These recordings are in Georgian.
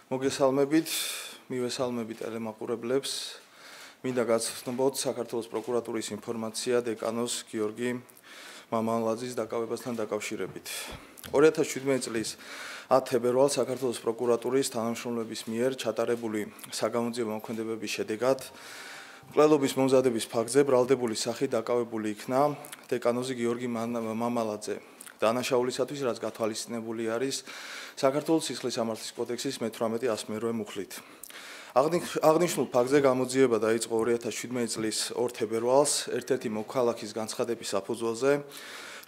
მოგესალმებით, მივესალმებით ტელემაყურებლებს. მინდა გაცნობოთ საქართველოს პროკურატურის ინფორმაცია დეკანოს გიორგი მამალაძის დაკავებასთან დაკავშირებით. 2017 წლის 10 თებერვალს საქართველოს პროკურატურის თანამშრომლების მიერ ჩატარებული საგამოძიებო მოქმედებების შედეგად მკვლელობის მომზადების ფაქტზე ბრალდებული სახით დაკავებული იქნა დეკანოზი გიორგი მამალაძე. დანაშაულისათვის, რაც გათვალისწინებული არის საქართველოს სისხლის სამართლის კოდექსის მე-18-108 მუხლით. აღნიშნულ ფაქტზე გამოძიება დაიწყო 2017 წლის 2 თებერვალს ერთ-ერთი მოქალაქის განცხადების საფუძველზე,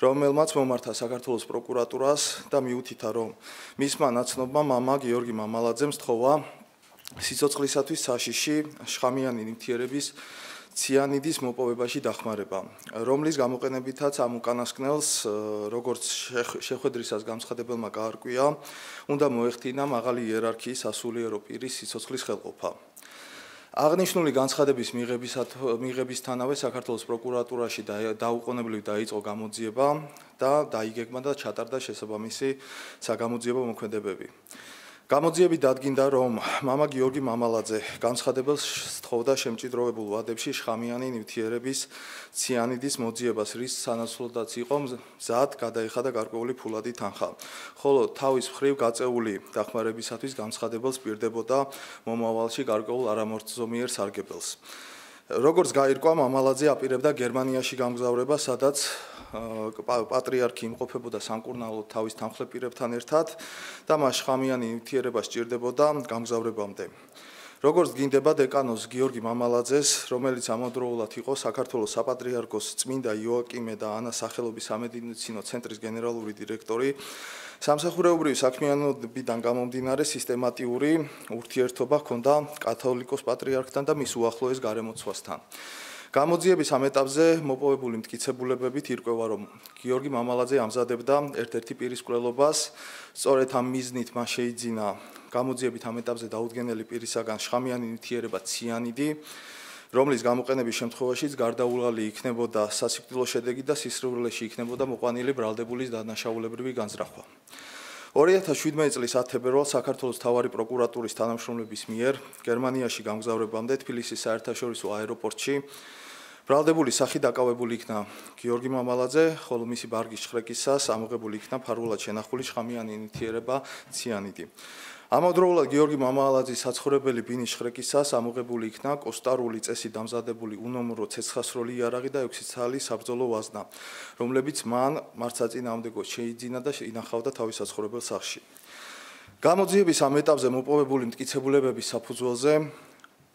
რომელმაც მომართა საქართველოს პროკურატურას და მიუთითა, რომ მისმა ნაცნობმა მამა გიორგი მამალაძემ სთხოვა სიცოცხლისათვის საშიში შხამიანი ნივთიერების ციანიდის მოპოვებაში დახმარება, რომლის გამოყენებითაც ამ უკანასკნელს, როგორც შეხვედრისას განცხადებელმა გაარკვია, უნდა მოეხდინა მაღალი იერარქიის სასულიერო პირის სიცოცხლის ხელყოფა. აღნიშნული განცხადების მიღებისთანავე საქართველოს პროკურატურაში დაუყოვნებლივ დაიწყო გამოძიება და დაიგეგმა და ჩატარდა შესაბამისი საგამოძიებო მოქმედებები. გამოძიებით დადგინდა, რომ მამა გიორგი მამალაძე განცხადებელს სთხოვდა შემჭიდროვებულ ვადებში შხამიანი ნივთიერების ციანიდის მოძიებას, რის სანაცვლოდაც იყო მზად გადაეხადა გარკვეული ფულადი თანხა, ხოლო თავის მხრივ გაწეული დახმარებისათვის განცხადებელს პირდებოდა მომავალში გარკვეულ არამორთზომიერ სარგებელს. როგორც გაირკვა, მამალაძე აპირებდა გერმანიაში გამგზავრება, სადაც პატრიარქი იმყოფებოდა სამკურნალოდ თავის თანხლეპირებთან ერთად და მას შხამიანი ნივთიერება სჭირდებოდა გამგზავრებამდე. როგორც გინდება დეკანოს გიორგი მამალაძეს, რომელიც ამავდროულად იყო საქართველოს საპატრიარქოს წმინდა იოაკიმე და ანას სახელობის სამედიცინო ცენტრის გენერალური დირექტორი, სამსახურეობრივი საქმიანობიდან გამომდინარე სისტემატიური ურთიერთობა ჰქონდა კათოლიკოს პატრიარქთან და მის უახლოეს გარემოცვასთან. გამოძიების ამ ეტაპზე მოპოვებული მტკიცებულებებით ირკვევა, რომ გიორგი მამალაძე ამზადებდა ერთ-ერთი პირის მკვლელობას, სწორედ ამ მიზნით მას შეიძინა გამოძიებით ამ ეტაპზე დაუდგენელი პირისაგან შხამიანი ნივთიერება ციანიდი, რომლის გამოყენების შემთხვევაშიც გარდაუვალი იქნებოდა სასიკვდილო შედეგი და სისხლძარღვში იქნებოდა მოყვანილი ბრალდებულის დანაშაულებრივი განზრახვა. 2017 წლის 10 თებერვალს საქართველოს მთავარი პროკურატურის თანამშრომლების მიერ გერმანიაში გამგზავრებამდე თბილისის საერთაშორისო აეროპორტში ბრალდებული სახით დაკავებული იქნა გიორგი მამალაძე, ხოლო მისი ბარგის შხრეკისას ამოღებული იქნა ფარულად შენახული შხამიანი ნივთიერება ციანიდი. ამავდროულად გიორგი მამალაძის საცხოვრებელი ბინის შხრეკისას ამოღებული იქნა კოსტარული წესით დამზადებული უნომრო ცეცხლსროლი იარაღი და 6 ცალი საბრძოლო ვაზნა, რომლებიც მან მართსაწინააღმდეგოდ შეიძინა და ინახავდა თავის საცხოვრებელ სახლში. გამოძიების ამ ეტაპზე მოპოვებული მტკიცებულებების საფუძველზე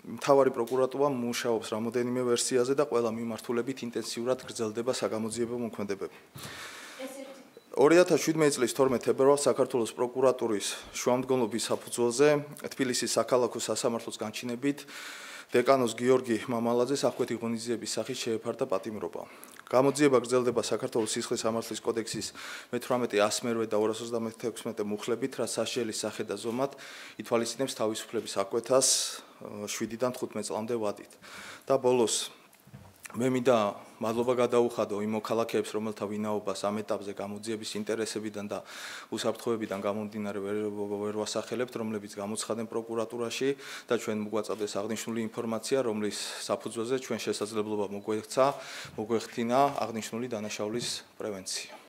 მთავარი პროკურატურა მუშაობს რამოდენიმე ვერსიაზე და ყველა მიმართულებით ინტენსიურად გრძელდება საგამოძიებო მოქმედებები. 2017 წლის 12 თებერვალს საქართველოს პროკურატურის შუამდგომლობის საფუძველზე თბილისის საქალაქო სასამართლოს განჩინებით დეკანოს გიორგი მამალაძეს აღკვეთი ღონისძიების სახით შეეფარდა პატიმრობა. გამოძიება გრძელდება საქართველოს სისხლის სამართლის კოდექსის მე-18-108 და 236 მუხლებით, რაც სასჯელის სახე და ზომად ითვალისწინებს თავისუფლების აღკვეთას 7-დან 15 წლამდე ვადით. და ბოლოს მე მინდა მადლობა გადაუხადო იმ მოქალაქეებს, რომელთა ვინაობას ამ ეტაპზე გამოძიების ინტერესებიდან და უსაფრთხოებიდან გამომდინარე ვერ ვასახელებთ, რომლებიც გამოცხადნენ პროკურატურაში და ჩვენ მოგვაწევდეს აღნიშნული ინფორმაცია, რომლის საფუძველზე ჩვენ შესაძლებლობა მოგვექცა, მოგვეხთინა აღნიშნული დანაშაულის პრევენცია.